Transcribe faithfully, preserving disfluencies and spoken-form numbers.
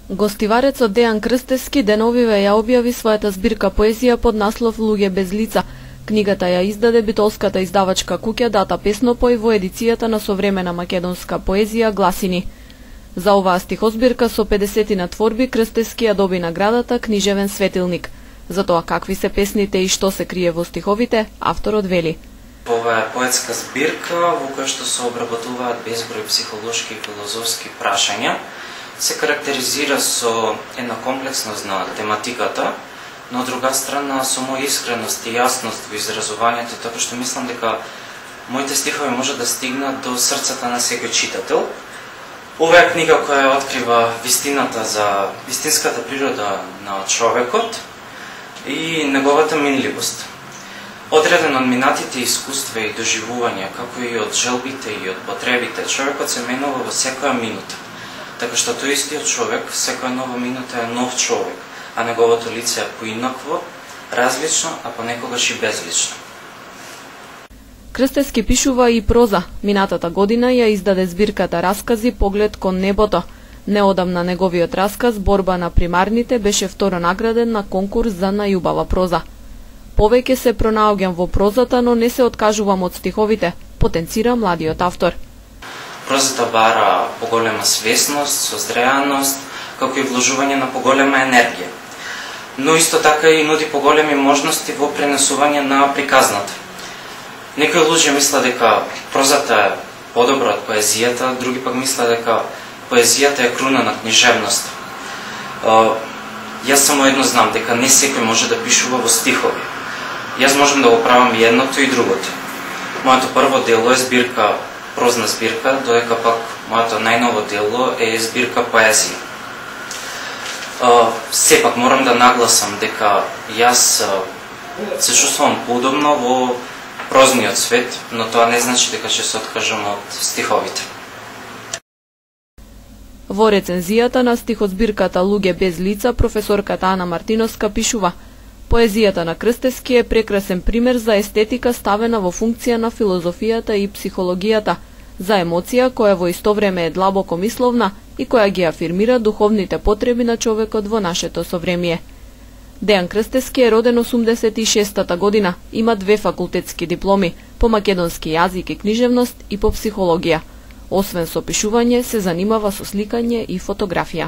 Гостиварецот Дејан Крстевски деновиве ја објави својата збирка поезија под наслов Луѓе без лица. Книгата ја издаде битолската издавачка куќа Дата Песнопој во едицијата на современа македонска поезија Гласини. За оваа стихозбирка со педесетина творби Крстевски ја доби наградата Книжевен светилник. За тоа какви се песните и што се крие во стиховите, авторот вели: Ова е поетска збирка во која што се обработуваат безброј психолошки и филозофски прашања. Се карактеризира со една комплексност на тематиката, но од друга страна со моја искреност и јасност во изразувањето, така што мислам дека моите стихови може да стигнат до срцата на секој читател. Ова е книга која открива вистината за вистинската природа на човекот и неговата минливост. Одреден од минатите искуства и доживувања, како и од желбите и од потребите, човекот се менува во секоја минута. Така што тој истиот човек, секоја нова минута е нов човек, а неговото лице е поинакво, различно, а понекогаш и безлично. Крстевски пишува и проза. Минатата година ја издаде збирката Раскази Поглед кон небото. Неодамна неговиот расказ Борба на примарните беше второ награден на конкурс за најубава проза. Повеќе се пронаоѓам во прозата, но не се откажувам од стиховите, потенцира младиот автор. Прозата бара поголема свесност, созреаност, како и вложување на поголема енергија. Но исто така и нуди поголеми можности во пренесување на приказната. Некои луѓе мислат дека прозата е подобра од поезијата, други пак мислат дека поезијата е круна на книжевност. Јас само едно знам, дека не секој може да пишува во стихови. Јас можам да го правам и едното и другото. Моето прво дело е збирка, прозна збирка, додека пак моето најново дело е збирка поезија. Сепак морам да нагласам дека јас се чувствувам поудобно во прозниот свет, но тоа не значи дека ќе се откажам од стиховите. Во рецензијата на стихозбирката Луѓе без лица, професорката Ана Мартиновска пишува: Поезијата на Крстевски е прекрасен пример за естетика ставена во функција на филозофијата и психологијата, за емоција која во исто време е длабоко мисловна и која ги афирмира духовните потреби на човекот во нашето совремие. Дејан Крстевски е роден осумдесет и шестата година, има две факултетски дипломи, по македонски јазик и книжевност и по психологија. Освен со пишување, се занимава со сликање и фотографија.